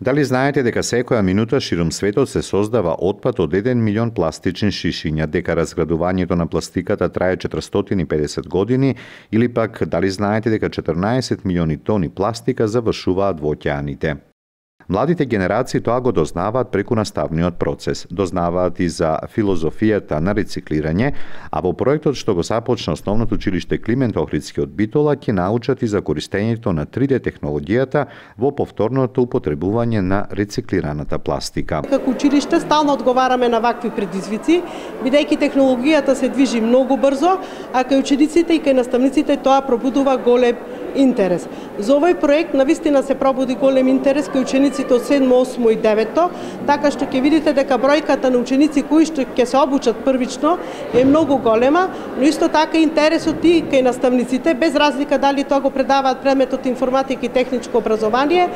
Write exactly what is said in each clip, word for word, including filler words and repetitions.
Дали знаете дека секоја минута ширум светот се создава отпад од еден милион пластични шишиња, дека разградувањето на пластиката трае четиристотини и педесет години, или пак дали знаете дека четрнаесет милиони тони пластика завршуваат во океаните? Младите генерации тоа го дознаваат преку наставниот процес, дознаваат и за филозофијата на рециклирање, а во проектот што го започна Основното училиште Климент Охридски од Битола ќе научат и за користењето на три де технологијата во повторното употребување на рециклираната пластика. Како училиште стално одговараме на вакви предизвици, бидејќи технологијата се движи многу брзо, а кај учениците и кај наставниците тоа пробудува голем интерес. За овој проект навистина се пробуди голем интерес кај учениците од седмо, осмо и девето, така што ќе видите дека бројката на ученици кои што ќе се обучат првично е многу голема, но исто така интересот и кај наставниците, без разлика дали тоа го предаваат предметот информатика и техничко образование,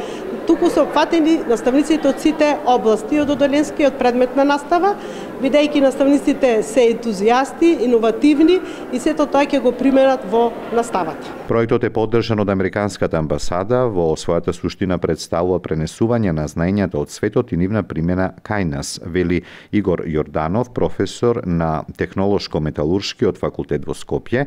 туку се опфатени наставниците од сите области, од одделенскиот предмет на настава, бидејќи наставниците се ентузијасти, иновативни и сето тоа ќе го применат во наставата. Проектот е поддржан од Американската амбасада, во својата суштина представува пренесување на знаењата од светот и нивна примена кај нас, вели Игор Јорданов, професор на Технолошко-металуршкиот факултет во Скопје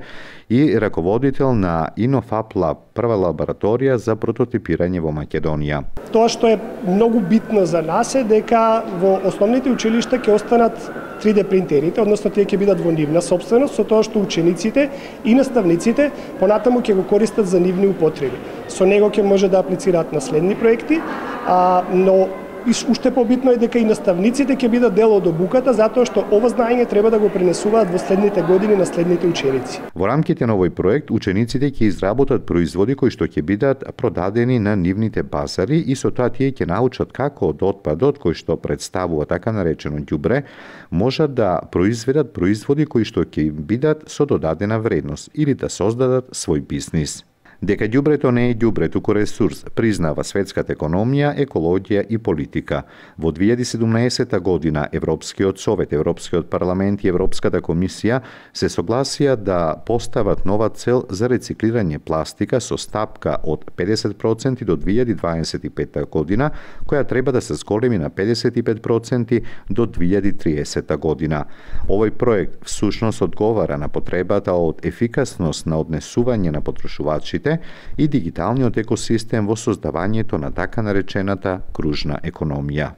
и раководител на Инофап Лаб, прва лабораторија за прототипирање во Македонија. Тоа што е многу битно за нас е дека во основните училишта ќе останат три де принтерите, односно тие ќе бидат во нивна сопственост, со тоа што учениците и наставниците понатаму ќе го користат за нивни употреби. Со него ќе може да аплицираат на следни проекти, а, но и уште побитно е дека и наставниците ќе бидат дел од обуката, затоа што ова знаење треба да го пренесуваат во следните години на следните ученици. Во рамките на овој проект, учениците ќе изработат производи кои што ќе бидат продадени на нивните базари и со тоа тие ќе научат како од отпадот кој што представува така наречено ѓубре, можат да произведат производи кои што ќе бидат со додадена вредност или да создадат свој бизнис. Дека ѓубрето не е ѓубре, туку ресурс, признава светската економија, екологија и политика. Во две илјади и седумнаесета година Европскиот совет, Европскиот парламент и Европската комисија се согласија да постават нова цел за рециклирање пластика со стапка од педесет проценти до две илјади дваесет и петта година, која треба да се зголеми на педесет и пет проценти до две илјади и триесетта година. Овој проект всушност одговара на потребата од ефикасност на однесување на потрошувачите и дигиталниот екосистем во создавањето на така наречената кружна економија.